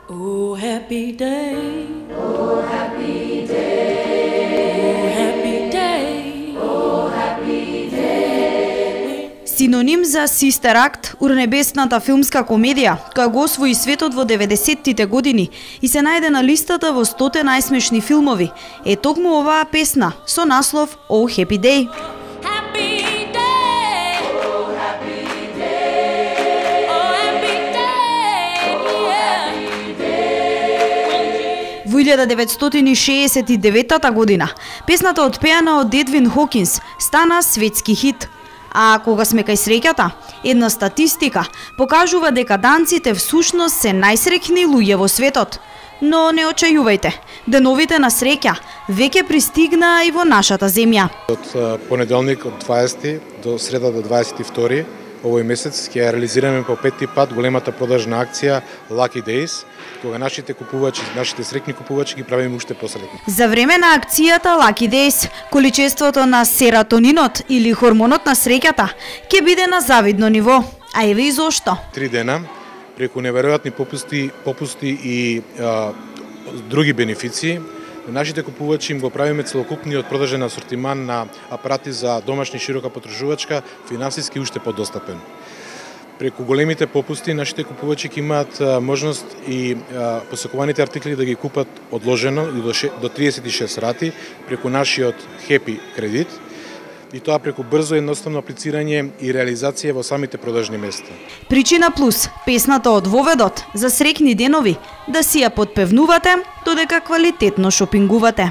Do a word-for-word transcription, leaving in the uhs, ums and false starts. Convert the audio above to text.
Oh happy day, oh happy day, oh happy day, oh happy day. Синоним за Sister Act, урнебесната филмска комедија, која го освои светот во деветдесеттите години и се најде на листата во сто најсмешни филмови, е токму оваа песна со наслов Oh Happy Day. Во илјада деветстотини шеесет и девета година, песната отпеана од Едвин Хокинс стана светски хит. А кога сме кај среќата, една статистика покажува дека данците всушност се најсреќни луѓе во светот. Но не очајувајте, деновите на среќа веќе пристигна и во нашата земја. Од понеделник од дваесети до среда до дваесет и втори овој месец ќе реализираме по петти пат големата продажна акција Lucky Days, кога нашите купувачи, нашите среќни купувачи ги правиме уште посреќни. За време на акцијата Lucky Days, количеството на серотонинот или хормонот на среќата ќе биде на завидно ниво. А еве и зошто. Три дена преку неверојатни попусти, попусти и а, други бенефиции, нашите купувачи им го правиме целокупниот продажен асортиман на апарати за домашни широка потребувачка финансиски уште подостапен. Преку големите попусти нашите купувачи ќе имаат а, можност и а, посакуваните артикли да ги купат одложено и до, до триесет и шест рати преку нашиот Happy кредит, и тоа преку брзо и едноставно аплицирање и реализација во самите продажни места. Причина плюс, песната од Воведот за среќни денови, да си ја подпевнувате, додека квалитетно шопингувате.